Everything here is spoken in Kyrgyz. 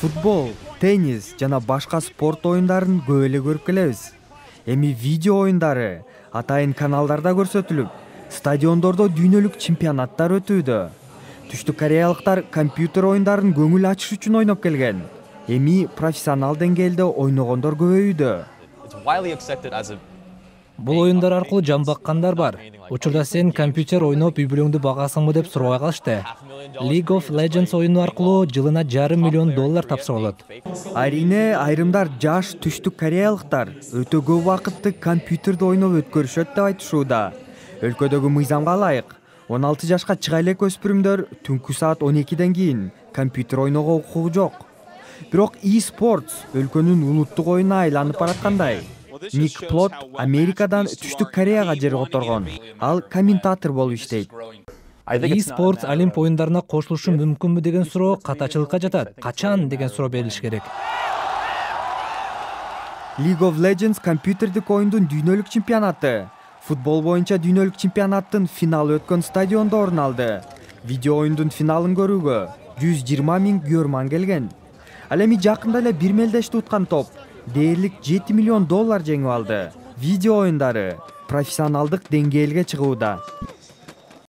Футбол, теннис жана башка спорт оюндарын көп эле көрүп келебиз. Эми видео оюндары атайын каналдарда көрсөтүлүп, стадиондордо дүйнөлүк чемпионаттар өтүүдө. Түштүк кореялыктар компьютер оюндарын көңүл ачыш үчүн ойноп келген. Эми профессионал деңгээлде ойногондор көбөйүүдө. Бул оюндар аркылуу жан баккандар бар. Учурда сен компьютер ойноп үй бүлөңдү багасыңбы деп сурабай калышты. League of Legends оюну аркылуу жылына $500 миллион тапшырылат. Айрине айрымдар жаш түштүк кореялыктар өтө көп убакытты компьютерде ойноп өткөрүшөт деп айтышууда. Өлкөдөгү мыйзамга ылайык 16 жашка чыга элек өспүрүмдөр түнкү саат 12ден кийин компьютер ойноого укугу жок. Бирок e-sports өлкөнүн улуттук оюнуна айланып бараткандай. Ник Плот Америкадан түштүк Кореяга жер которгон. Ал комментатор болуп иштейт. E-sports Олимп оюндарына кошулушу мүмкүнбү деген суроо катачылыкка жатат. Качан деген суроо берилиш керек. League of Legends компьютердик оюндун дүйнөлүк чемпионаты. Футбол боюнча дүйнөлүк чемпионаттын финалы өткөн стадиондо орун алды. Видео оюндун финалын көрүүгө 120 000 көрөрман келген. Ал эми жакында эле бир мелдешти уткан топ дээрлик $7 миллион жеңип алды. Видео оюндары профессионалдык деңгээлге чыгууда.